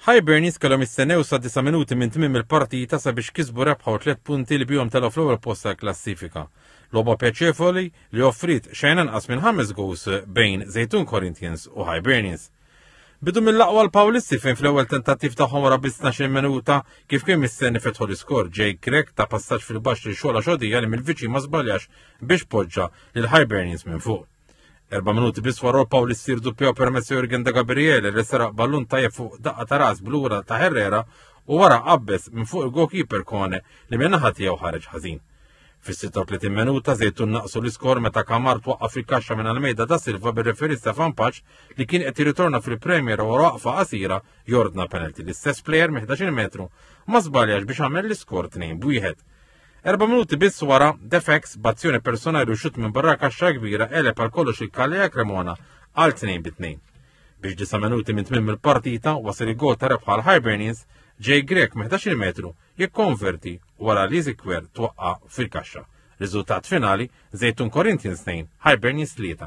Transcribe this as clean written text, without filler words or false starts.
Hibernians kellhom jistennew sa disa' minuti minn tmiem il-partita sabiex kisbu rebħa u tliet punti li bihom telgħu fl-ewwel post tal-klassifika. Logħba pjaċevoli li offriet xejn anqas minn ħames goals bejn Żejtun Corinthians u Hibernians. Bidu mill-aqwa l-Pawlisti fejn fl-ewwel tentattiv tagħhom wara biss 12 minuta kif kien mistenni fetħu l-iskor Jake Grech ta' passaġġ fil-baxx lil Xola Xodija li mill-viċin ma żbaljax biex poġġa lil Hibernians minn fuq. Erba' minuti biss wara Pawlisti rduppjaw permezz Jurgen de Gabriele li seraq ballun tajjeb fuq daqqa ta' ras blura ta' Herrera u wara qabbes minn fuq il-goalkeeper Kone li minn naħa tiegħu ħareġ ħażin. Fis-36 minuta Żejtun naqsu l-iskor meta Kamar twaqqaf fil-kaxxa minn Almeida da Silva bir-referee Stefan Paċ li kien qed jirritorna fil-Premier wara waqfa qasira jordna penalty. L-istess plejer minn 11 metru ma żbaljax biex għamel l-iskor 2 b'wieħed. Erba' minuti biss wara, Defex b'azzjoni personali u xutt minn barra kaxxa kbira għeleb għal kollox il-Kalea Cremona għal 2 bi 2. Biex disa' minuti minn tmiem il-partita wasal il-gol ta' rebħa għal Hibernians, Jay Grech minn 11 metru jikkonverti wara li Zikwer twaqqa' fil-kaxxa. Riżultat finali, Żejtun Corinthians 2, Hibernians 3.